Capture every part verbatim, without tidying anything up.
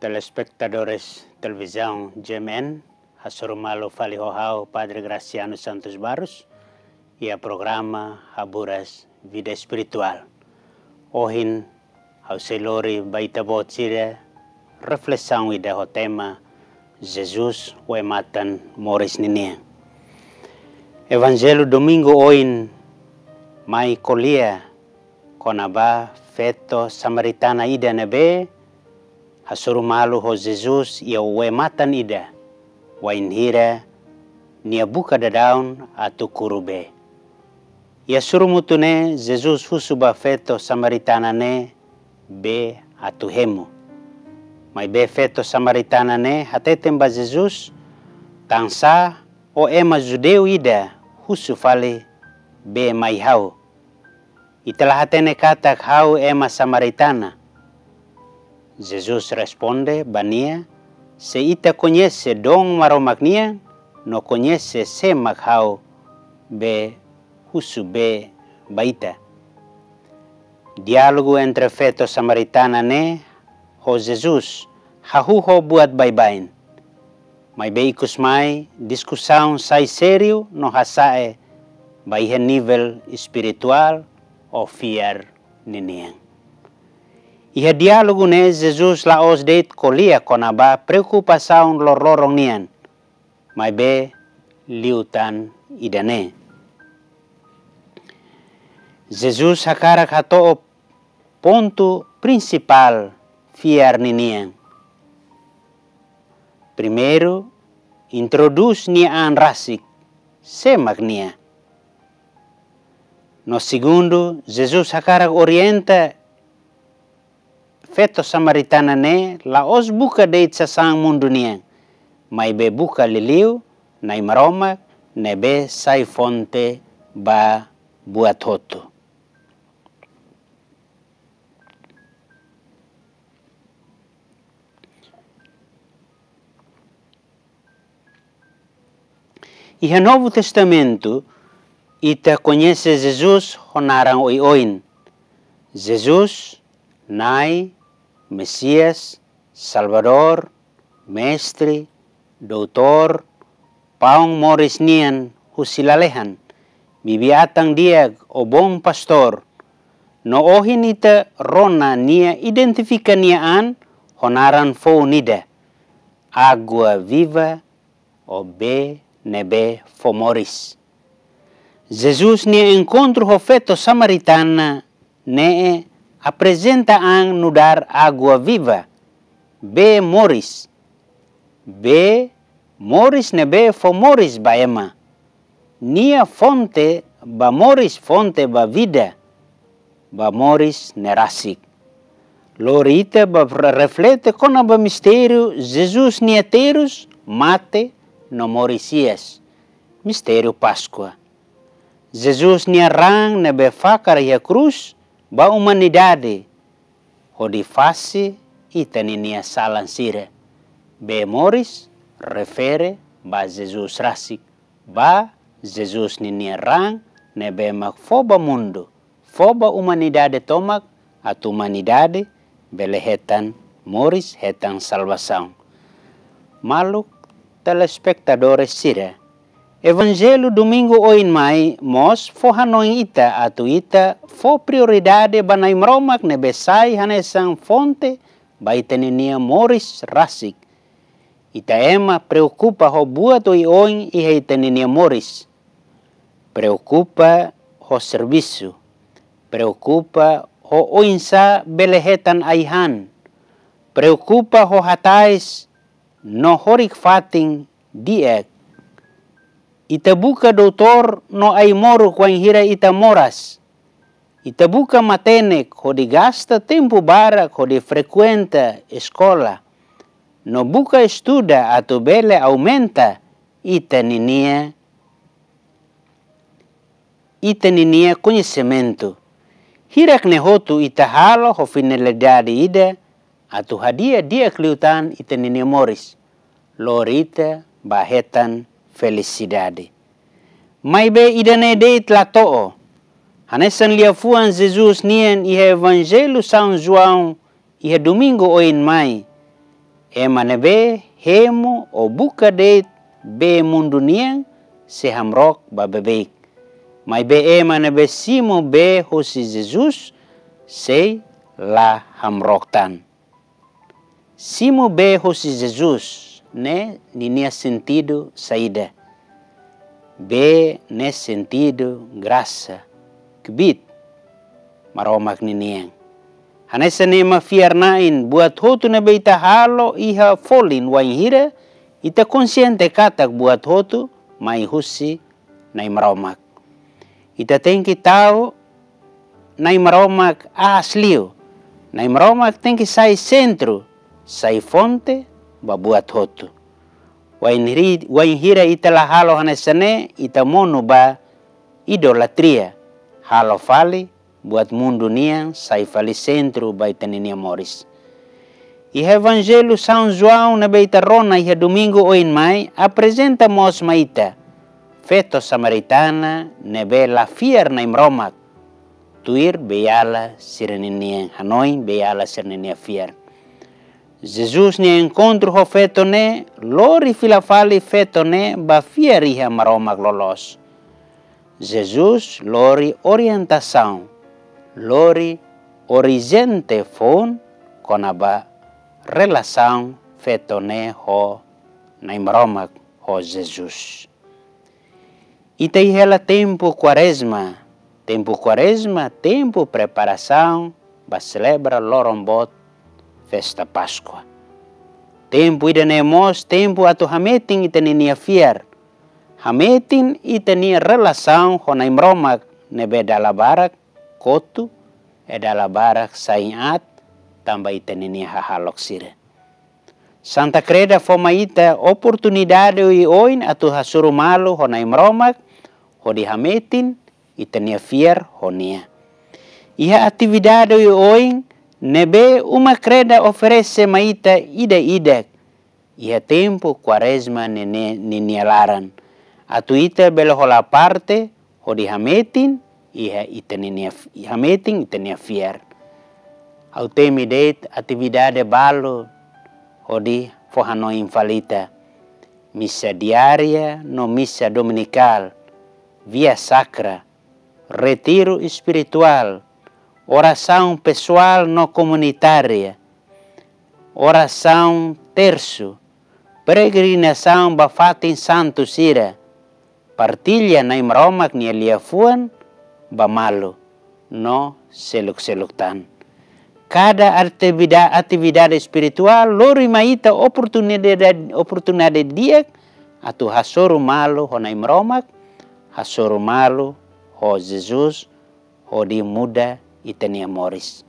Telespetadores televizaun G M N, hasoru malu fali ho ha'u Padre Graciano Santos Barros, iha programa Haburas Vida Espirituál. Ohin, ha'u sei lori ba ita-boot sira reflesaun ida ho tema Jesus, Ue-Matan Moris ninian. Evanjellu Domingu oin mai ko'alia kona-ba feto samaritana ida ne'ebé hasoru malu ho Jesus iha ue-matan ida, wainhira nia buka daudaun atu kuru bee. Iha surumutu ne'e Jesus husu ba feto samaritana ne'e bee atu hemu. Maibé feto samaritana ne'e hateten ba Jesus: Tansá ó ema judeu ida husu fali bee mai ha'u? Ita la hatene katak ha'u ema samaritana? Jesus responde ba nia: Se ita koñese doon Maromak nian, no koñese sé mak ha'u be husu bee ba ita. Diálogu entre feto samaritana ne'e ho Jesus hahú ho buat baibain. Maibé ikusmai diskusaun sai sériu no hasa'e ba iha nivel espirituál ou fiar ninian. Iha diálogu ne'e Jesus la'ós de'it ko'alia kona-ba preokupasaun loroloron nian, maibé liután ida-ne'e. Jesus hakarak hato'o pontu prinsipál fiar ninian. Primeiru, introdús nia an rasik, sé mak nia. No segundu, Jesus hakarak orienta feto samaritana ne'e la'ós buka de'it sasán mundu nian, maibé buka liuliu Na'i Maromak ne'ebé sai fonte ba buat hotu. Iha Novu Testamentu, ita koñese Jesus ho naran oioin. Jesus, Na'i, Mesias, Salvadór, Mestre, Doutór, Paun Moris nian husi Lalehan, Bibi-Atan Di'ak ou Bom Pastór. No ohin ita rona nia identifika nia an ho naran foun ida: Água Viva, ou Bee Ne'ebé Fó Moris. Jesus nia enkontru ho feto samaritana ne'e aprezenta an nu'udar água viva, bee moris, bee moris ne'ebé fó moris ba ema. Nia fonte ba moris, fonte ba vida, ba moris ne'e rasik. Lori ita ba re-, reflete kona-ba mistériu Jesus nia terus, mate no moris hi'as, mistériu Páskua. Jesus nia raan ne'ebé fakar iha krús ba umanidade, hodi fase ita-ninia salan sira. Bee moris refere ba Jesus rasik, ba Jesus ninia raan ne'ebé mak fó ba mundu, fó ba umanidade tomak, atu umanidade bele hetan moris, hetan salvasaun. Maluk telespetadores sira, Evanjellu Domingu oin mai mós fó hanoin ita atu ita fó prioridade ba Na'i Maromak ne'ebé sai hanesan fonte ba ita-ninia moris rasik. Ita ema preokupa ho buat oioin iha ita-ninia moris. Preokupa ho servisu. Preokupa ho oinsá bele hetan ai-han. Preokupa ho hatais no horik-fatin di'ak. Ita buka doutór no ai-moruk wainhira ita moras. Ita buka matenek hodi gasta tempu barak hodi frekuenta eskola, no buka estuda atu bele aumenta ita-ninia, ita-ninia koñesimentu. Hirak ne'e hotu ita halo ho finalidade ida, atu hadi'a di'ak liután ita-ninia moris, lori ita ba hetan felisidade. Maibé ida-ne'e de'it la to'o. Hanesan liafuan Jesus nian iha Evanjellu São João iha Domingu oin mai, Ema ne'ebé hemu ou buka de'it bee mundu nian sei hamrook ba beibeik. Maibé ema ne'ebé simu bee husi Jesus sei la hamrook tan. Simu bee husi Jesus ne'e ninia sentidu saida? Bee ne'e sentidu grasa, kbiit Maromak ninian. Hanesan ema fiar-na'in, buat hotu ne'ebé ita halo iha folin wainhira ita konsiente katak buat hotu mai husi Na'i Maromak. Ita tenke tau Na'i Maromak aas liu. Na'i Maromak tenke sai sentru, sai fonte ba buat hotu. Wainhiri-, wainhira ita la halo hanesan ne'e, ita monu ba idolatria, halo fali buat mundu nian sai fali sentru ba ita ninia moris. Iha Evanjellu São João ne'ebé ita rona iha domingu oin mai, aprezenta mós mai ita feto samaritana ne'ebé la fiar Na'i Maromak, tuir beiala sira ninian hanoin, beiala sira ninia fiar. Jesus nia enkontru ho feto ne'e lori fila fali feto ne'e ba fiar iha Maromak loloos. Jesus lori orientasaun, lori orizonte foun kona-ba relasaun feto ne'e ho Na'i Maromak, ho Jesus. Ita iha hela tempu Kuarezma, tempu Kuarezma, tempu preparasaun ba selebra loron boot festa Páskua. Tempu ida-ne'e mós tempu atu hametin ita ninia fiar, hametin ita-nia relasaun ho Na'i Maromak ne'ebé dala barak kotu, e dala barak sa'e aat tanba ita ninia hahalok sira. Santa Kreda fó mai ita oportunidade oioin atu hasoru malu ho Na'i Maromak, hodi hametin ita-nia fiar ho Nia. Iha atividade oioin ne'ebé Uma Kreda oferese mai ita ida-idak iha tempu Kuarezma ne'e, ninia laran, atu ita bele hola parte hodi hametin iha ita ninia f-, hametin ita-nia fiar. Ha'u temi de'it atividade balu hodi fó hanoin fali ita. Misa diária no misa dominikál, via sacra, retiru espirituál, orasaun pesoál no komunitária, orasaun tersu, peregrinasaun ba fatin santu sira, partilla Na'i Maromak nia liafuan ba malu no seluk-seluk tan. Kada ativida-, atividade espirituál lori mai ita oportunidade, oportunidade di'ak atu hasoru malu ho Na'i Maromak, hasoru malu ho Jesus, hodi muda ita-nia moris.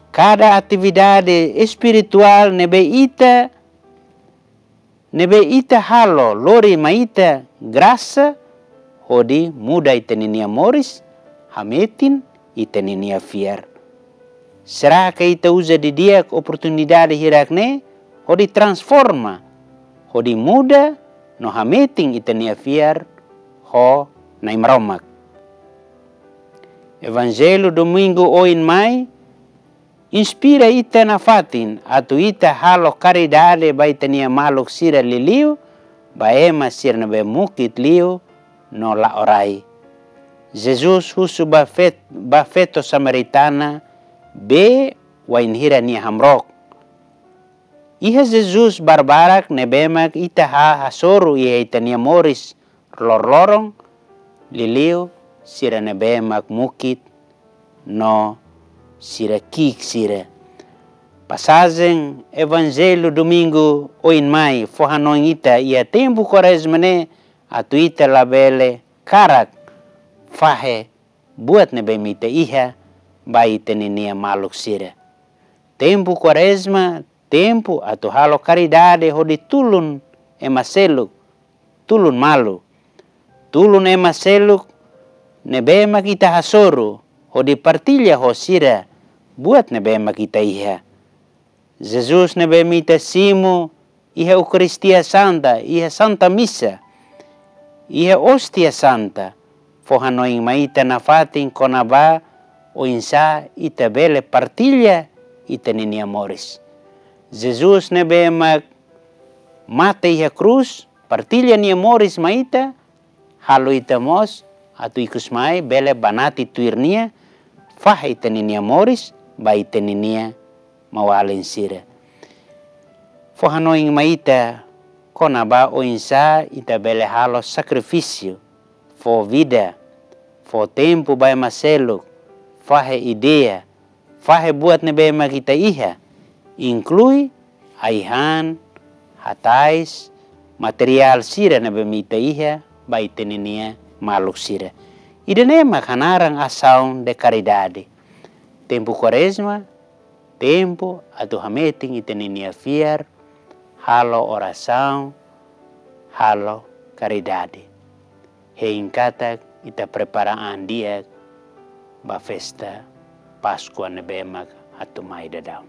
Kada atividade espirituál ne'ebé ita, ne'ebé ita halo lori mai ita grasa hodi muda ita ninia moris, hametin ita ninia fiar. Será ke ita uza didi'ak oportunidade hirak-ne'e hodi transforma, hodi muda no hametin ita-nia fiar ho Na'i Maromak? Evanjellu domingu oin mai inspira ita nafatin atu ita halo karidade ba ita-nia maluk sira liuliu, ba ema sira ne'ebé mukit liu no la'o rai. Jesus husu ba fet-, ba feto samaritana bee wainhira nia hamrook. Iha Jesus barbarak ne'ebé mak ita ha-, hasoru iha ita-nia moris loroloron, liuliu sira ne'ebé mak mukit no sira ki'ik sira. Pasajen Evanjellu domingu oin mai fó hanoin ita iha tempu Kuarezma ne'e atu ita labele karak fahe buat ne'ebé mak ita iha ba ita ninia maluk sira. Tempu Kuarezma tempu atu halo karidade hodi tulun ema seluk, tulun malu. Tulun ema seluk ne'ebé mak ita hasoru hodi partilla ho sira buat ne'ebé mak ita iha. Jesus ne'ebé mak ita simu iha Eukaristia Santa, iha Santa Misa, iha Óstia Santa, fó hanoin mai ita nafatin kona-ba oinsá ita bele partilla ita ninia moris. Jesus ne'ebé mak mate iha krús, partilla nia moris mai ita, halo ita mós atu ikus mai bele banati tuir nia, fahe ita-nia moris ba ita-nia maun-alin sira. Fó hanoin mai ita kona-ba oinsá ita bele halo sakrifísiu, fó vida, fó tempu ba ema seluk, fahe ideia, fahe buat ne'ebé mak ita iha, inklui ai-han, hatais, materiál sira ne'ebé mak ita iha ba ita-nia maluk sira. Ida-ne'e mak hanaran asaun de karidade. Tempu Kuarezma, tempu atu hametin ita-nia fiar, halo orasaun, halo karidade. Hein katak ita prepara an di'ak ba festa Páskua ne'ebé mak atu mai daudaun.